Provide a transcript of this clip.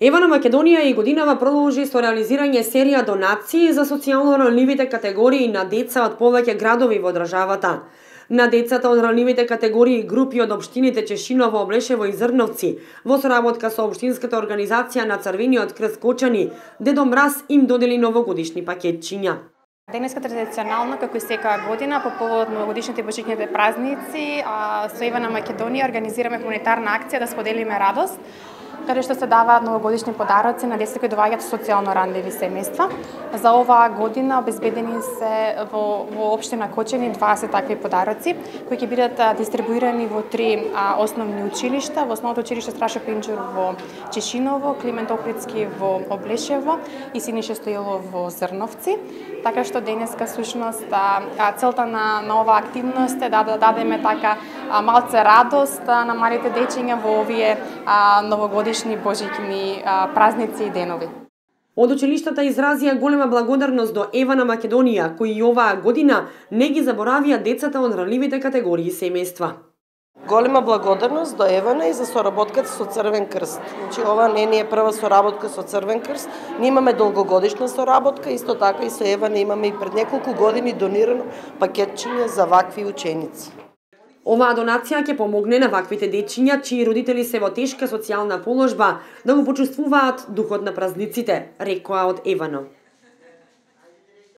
Евана Македонија и годинава продолжи со реализирање серија донации за социјално ранливите категории на деца од повеќе градови во државата. На децата од ранливите категории групи од општините Чешиново, Облешево и Зрновци, во соработка со општинската организација на Црвениот крст Кочани, Дедо Мраз им додели новогодишни пакетчиња. Денеска традиционално, како и секоја година, по повод новогодишните и божичните празници, со Евана Македонија организираме хуманитарна акција да споделиме радост, каде што се даваат новогодишни подароци на деца кои доаѓаат социјално ранливи семејства. За оваа година обезбедени се во општина Кочани 20 такви подароци, кои ќе бидат дистрибуирани во 3 основни училишта, во основното училиште Страшо Пинџур во Чешиново, Климент Охридски во Облешево и Синише Стоилов во Зрновци. Така што денеска всушност целта на оваа активност е да дадеме така малце радост на малите дечиња во овие новогодишни божични празници и денови. Од училиштата изразија голема благодарност до Евана Македонија, кои и оваа година не ги заборавија децата од ранливите категории семејства. Голема благодарност до Евана и за соработката со Црвен крст. Значи, ова не е прва соработка со Црвен крст. Ние имаме долгогодишна соработка, исто така и со Евана имаме и пред неколку години донирано пакетчиња за вакви ученици. Оваа донација ќе помогне на ваквите дечиња, чии родители се во тешка социјална положба, да го почувствуваат духот на празниците, рекоа од Евано.